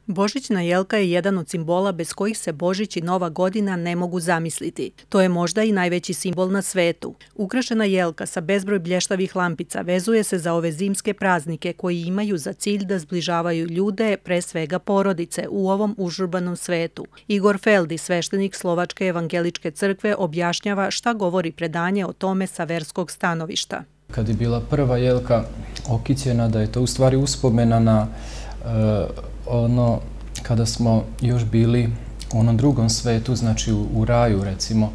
Božićna jelka je jedan od simbola bez kojih se Božić i Nova godina ne mogu zamisliti. To je možda i najveći simbol na svetu. Ukrašena jelka sa bezbroj blještavih lampica vezuje se za ove zimske praznike koji imaju za cilj da zbližavaju ljude, pre svega porodice, u ovom užurbanom svetu. Igor Feldi, sveštenik Slovačke evangeličke crkve, objašnjava šta govori predanje o tome sa verskog stanovišta. Kad je bila prva jelka okićena, da je to u stvari uspomena na ono kada smo još bili u onom drugom svetu, znači u raju recimo.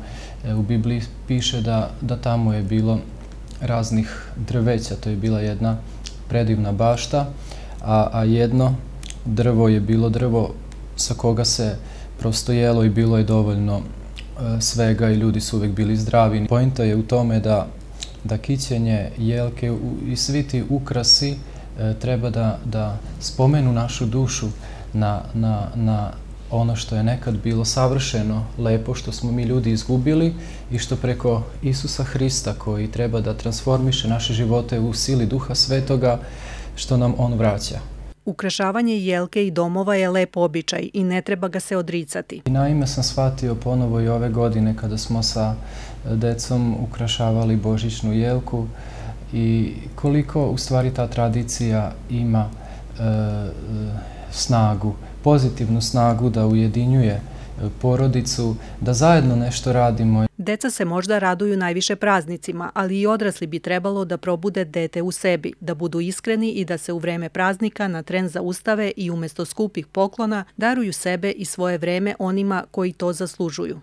U Bibliji piše da tamo je bilo raznih drveća, to je bila jedna predivna bašta, a jedno drvo je bilo drvo sa koga se prosto jelo i bilo je dovoljno svega i ljudi su uvijek bili zdravi. Pointa je u tome da kićenje, jelke i svi ti ukrasi treba da spomenu našu dušu na ono što je nekad bilo savršeno, lepo, što smo mi ljudi izgubili i što preko Isusa Hrista, koji treba da transformiše naše živote u sili Duha Svetoga, što nam On vraća. Ukrašavanje jelke i domova je lep običaj i ne treba ga se odricati. Naime sam shvatio ponovo i ove godine kada smo sa decom ukrašavali božićnu jelku i koliko u stvari ta tradicija ima snagu, pozitivnu snagu da ujedinjuje porodicu, da zajedno nešto radimo. Deca se možda raduju najviše praznicima, ali i odrasli bi trebalo da probude dete u sebi, da budu iskreni i da se u vreme praznika na tren zaustave i umjesto skupih poklona daruju sebe i svoje vreme onima koji to zaslužuju.